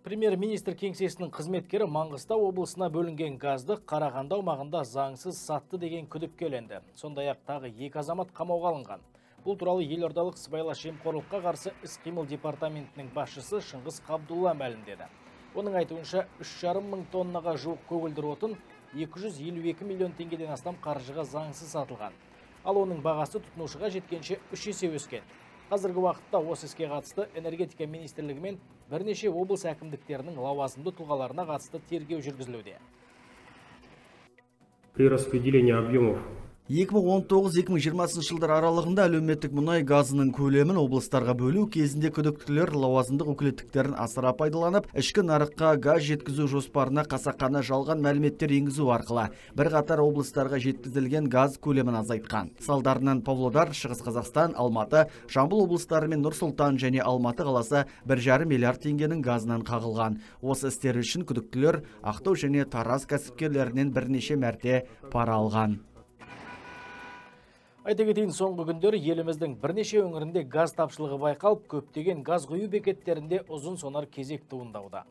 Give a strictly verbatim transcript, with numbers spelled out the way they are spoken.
Премьер-министр кеңсесінің қызметкері Маңғыстау облысына бөлінген газды Қарағанды аумағында заңсыз сатты деген күдікке ілінді. Сондай-ақ тағы екі азамат қамауға алынған. Бұл туралы елордалық сыбайлас жемқорлыққа қарсы іс-қимыл департаментінің басшысы Шыңғыс Қабдулла мәлімдеді. Оның айтуынша үш жарым мың тоннаға жуық көгілдір отын екі жүз елу екі миллион теңгеден астам қаржыға заңсыз сатылған. Ал оның бағасы тұтынушыға жеткенше үш есе өскен. Қазіргі уақытта осы іске қатысты энергетика министрлігі мен бірнеше облыс әкімдіктерінің лауазымды тұлғаларына қатысты тергеу жүргізілуде. При распределении объемов екі мың он тоғыз екі мың жиырмасыншы жылдар аралығында әлеуметтік мұнай газының көлемін облыстарға бөлу кезінде күдіктілер лауазымдық өкілеттіктерін асыра пайдаланып, ішкі нарыққа газ жеткізу жоспарына қасақана жалған мәліметтер енгізу арқылы бірқатар облыстарға жеткізілген газ көлемін азайтқан. Салдарынан Павлодар, Шығыс Қазақстан, Алматы, Жамбыл облыстары мен Нұр-Сұлтан және Алматы қаласы бір жарым миллиард теңгенің газынан қағылған. Осы істер үшін күдіктілер Ақтау және Тараз кәсіпкерлерінен бірнеше мәрте пара алған. Айта кетейін, соңғы күндері еліміздің бірнеше өңірінде газ тапшылығы байқалып, көптеген газ құю бекеттерінде ұзын сонар кезек туындауда.